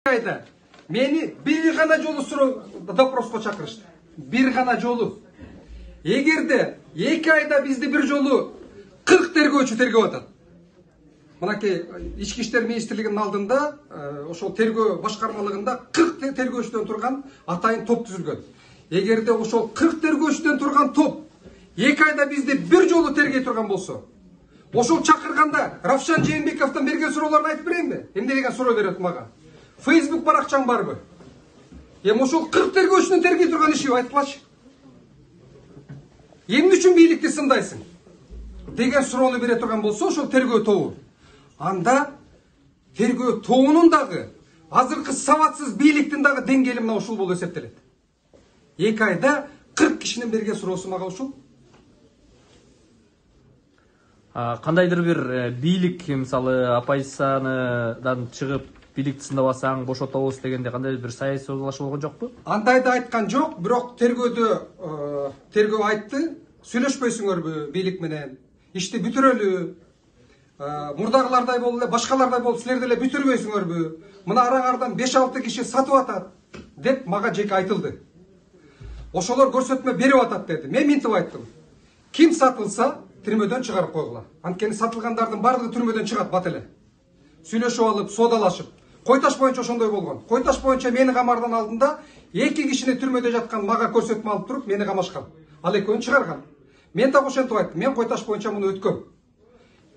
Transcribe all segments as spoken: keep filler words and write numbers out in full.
айда мени бир гана жолу суроо допроско чакырышты. Бир гана жолу. Эгерде эки айда бизди бир жолу кырк тергөөчү тергеп атат. Мынакей ички иштер министрлигинин алдында ошол тергөө башкармалыгында кырк тергөөчүдөн турган атайын топ түзүлгөн. Эгерде ошол кырк тергөөчүдөн турган топ эки айда бизди бир жолу тергей турган болсо, ошол чакырганда Равшан Жээнбековдон берген суроолорду айтып берейинби? Эмне деген суроо берет мага? Facebook баракчаң барбы? Эми ошол кырк тергөөчүнүн тергей турган иши айтпачы. Эмне үчүн бийликти сындайсың? Деген суроону бере турган болсо, ошол тергөө тобу. Анда тергөө тобунун дагы азыркы сабатсыз бийликтин дагы деңгээли мына ушул болуп эсептелет. эки айда кырк кишинин берген суроосу мага ушул. Кандайдыр бир бийлик, мисалы, оппозициядан чыгып бийликти сындабасаң бошотобуз дегенде кандай бир саясий соодалашуу болгон жокпу? Андайды айткан жок, бирок тергөөдө тергөө айтты, сүйлөшпөйсүңөрбү бийлик менен? Ишти бүтүрөлү. Мурдагылардай болуп эле, башкалардай болуп силер деле бүтүрбөйсүңөрбү? Мына араңардан беш алты киши сатып атат деп мага жеке айтылды. Ошолор көрсөтмө берип атат деди. Мен минтип айттым. Ким сатылса түрмөдөн чыгарып койгула. Анткени сатылгандардын баардыгы түрмөдөн чыгат бат эле. Сүйлөшүп алып, соодалашып. Койташ боюнча ошондой болгон. Койташ боюнча мени камардан алдында эки кишини түрмөдө жаткан мага көрсөтмө алып туруп мени камашкан. Ал экөөнү чыгарган. Мен так ошентип айттым. Мен Койташ боюнча муну өткөм.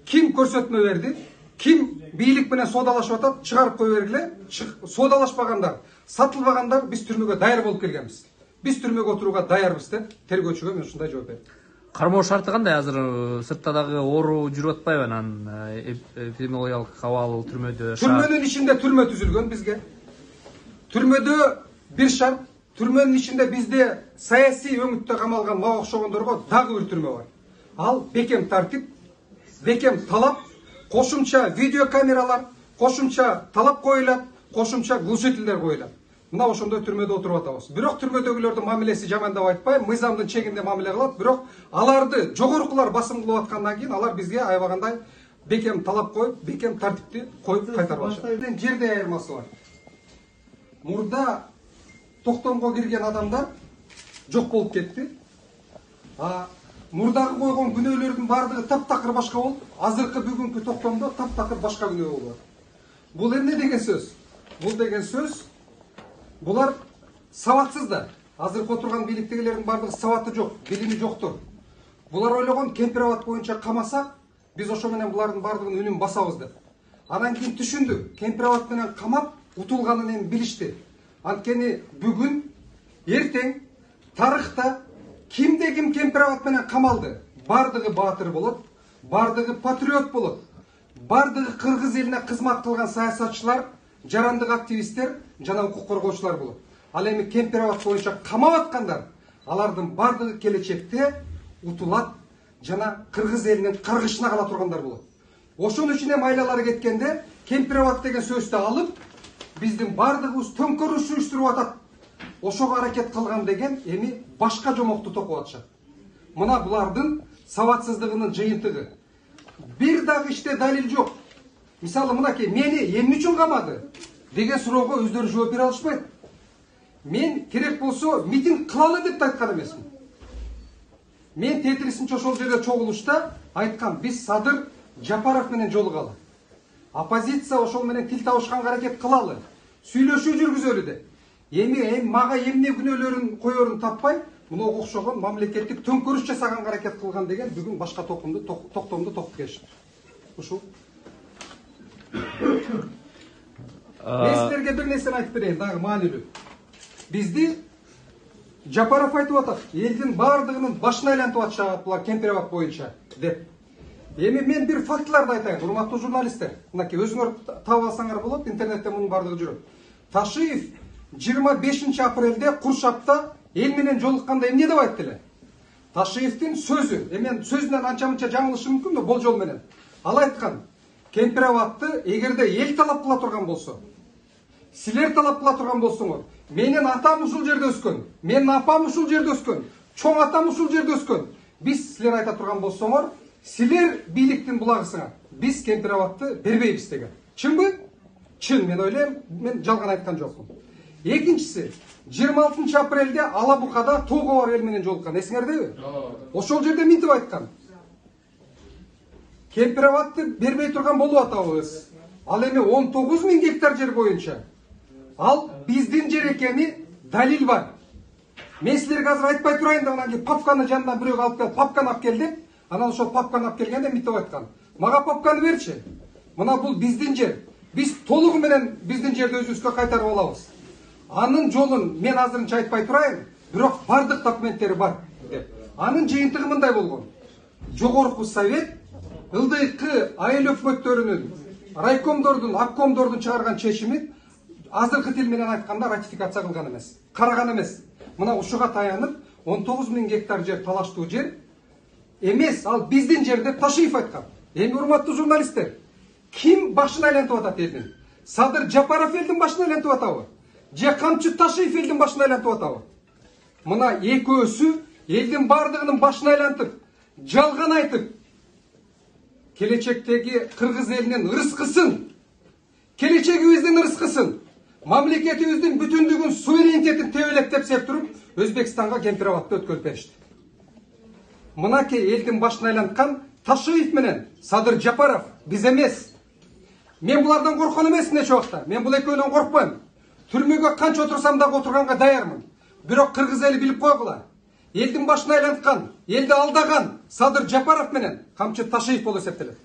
Ким көрсөтмө берди? Ким бийлик менен соодалашып атат? Чыгарып кое бергиле. Соодалашпагандар, сатылбагандар биз түрмөгө даяр болуп келгенбиз. Биз түрмөгө отурууга даярбыз деп тергөөчүгө мен ушундай жооп бердим. Кармоо шарты кандай? Азыр сыртта дагы оору жүрүп атпайбы анан эпидемиологиялык абал түрмөдө? Түрмөнүн ичинде түрмө түзүлгөн бизге. Түрмөдө бир шарт, түрмөнүн ичинде бизде саясий өңүттө камалган мага окшогондорго дагы бир түрмө бар. Ал бекем тартип, бекем талап, кошумча видеокамералар, кошумча талап коюлат, кошумча глушительдер коюлат. Мына ошондой түрмөдө отуруп атабыз. Бирок түрмөдөгүлөрдүн мамилеси жаман деп айтпайм, мыйзамдын чегинде мамиле кылат, бирок аларды жогорукулар басым кылып аткандан кийин алар бизге аябагандай бекем талап коюп, бекем тартипти коюп кайтарып атышат. Жерде айырмасы бар. Мурда токтомго кирген адамдар жок болуп кетти. А мурдагы койгон күнөөлөрдүн баардыгы таптакыр башка болуп, азыркы бүгүнкү токтомдо таптакыр башка күнөө болуп. Бул эмне деген сөз? Бул деген сөз булар сабатсыз да. Азыркы отурган бийликтегилердин баардыгы сабаты жок, билими жоктур. Булар ойлогон Кемпирабад боюнча камасак, биз ошо менен булардын баардыгын үнүн басабыз деп. Анан кийин түшүндү, Кемпирабад менен камап утулганын эми билишти. Анткени бүгүн, эртең, тарыхта кимде ким Кемпирабад менен камалды? Баардыгы баатыр болот, баардыгы патриот болот. Баардыгы кыргыз элине кызмат кылган саясатчылар, жарандык активисттер жана укук коргоочулар болот. Ал эми Кемпирабад боюнча камап аткандар, алардын баардыгы келечекте утулат жана кыргыз элинин каргышына кала тургандар болот. Ошон үчүн эми айлалары кеткенде Кемпирабад деген сөздү алып, биздин баардыгыбыз төңкөрүш уюштуруп атат. Ошого аракет кылган деген эми башка жомокту токуп атышат. Мына булардын сабатсыздыгынын жыйынтыгы. Бир дагы иште далил жок. Мисалы мынакей мени эмне үчүн камады деген суроого өздөрү жооп бере алышпайт. Мен керек болсо митинг кылалы деп айткан эмесмин. Мен тетирисинче ошол жерде чогулушта айткам, биз Садыр Жапаров менен жолугалы. Оппозиция ошол менен тил табышканга аракет кылалы. Сүйлөшүү жүргүзөлү деп. Эми эми мага эмне күнөөлөрүн коерун таппай, муну окшогон мамлекеттик төңкөрүш жасаганга аракет кылган деген бүгүн башка токтомду токтомду токуп келишти. Ушул. Мен силерге бир нерсени айтып берейин, дагы маанилүү. Бизди Жапаров айтып атат, элдин баардыгынын башына айлантып атышат булар Кемпирабад боюнча деп. Эми мен бир фактыларды айтайын, урматтуу журналисттер. Мынакей өзүңөр таап алсаңар болот, интернетте мунун баардыгы жүрөт. Ташиев жыйырма бешинчи апрелде Куршапта эл менен жолукканда эмне деп айтты эле? Ташиевдин сөзү, эми сөзүнөн анча-мынча жаңылышым мүмкүн да болжол менен. Ал айткан, Кемпирабадты эгерде эл талап кыла турган болсо, силер талап кыла турган болсоңор, менин атам ушул жерде өскөн, менин апам ушул жерде өскөн, чоң атам ушул жерде өскөн. Биз силер айта турган болсоңор, силер бийликтин булагысыңар, биз Кемпирабадты бербейбиз деген. Чынбы? чын, мен ойлойм, мен жалган айткан жокмун. Экинчиси, жыйырма алтынчы апрелде Ала Букада тоого бар эл менен жолуккан, эсиңердеби? Ошол жерде мынтип айткан. Кемпирабадты бербей турган болуп атабыз. Ал эми он тогуз миң гектар жер боюнча. Ал биздин жер экени далил бар. Мен силерге азыр айтпай турайын да, анан кийин папканы жанынан бирөө алып келип, папканы алып келди. Анан ошол папканы алып келгенде мынтип айткан. Мага папканы берчи. Мына бул биздин жер. Биз толугу менен биздин жерди өзүбүзгө кайтарып алабыз. Анын жолун мен азырынча айтпай турайын, бирок бардык документтери бар деп. Анын жыйынтыгы мындай болгон. Жогорку совет ылдыйкы айыл өкмөттөрүнүн, райкомдордун, обкомдордун чыгарган чечимин азыркы тил менен айтканда ратификация кылган эмес, караган эмес. Мына ушуга таянып он тогуз миң гектар жер талаштуу жер эмес, ал биздин жер деп Ташиев айткан. Эми урматтуу журналисттер, ким башын айлантып атат элдин? Садыр Жапаров элдин башын айлантып атабы? Же Камчы Ташиев элдин башын айлантып атабы? Мына экөөсү элдин бардыгынын башын айлантып, жалган айтып, келечектеги кыргыз элинин ырыскысын, келечегибиздин ырыскысын, мамлекетибиздин бүтүндүгүн, суверенитетин тебелеп тепсеп туруп, Өзбекстанга Кемпирабадты өткөрүп беришти. Мынакей элдин башын айланткан Ташиев менен Садыр Жапаров биз эмес. Мен булардан корккон эмесмин эч убакта. Мен бул экөөнөн коркпойм. Түрмөгө канча отурсам дагы отурганга даярмын. Бирок кыргыз эли билип койгула. Элдин башын айланткан, элди алдаган Садыр Жапаров менен Камчы Ташиев болуп эсептелет.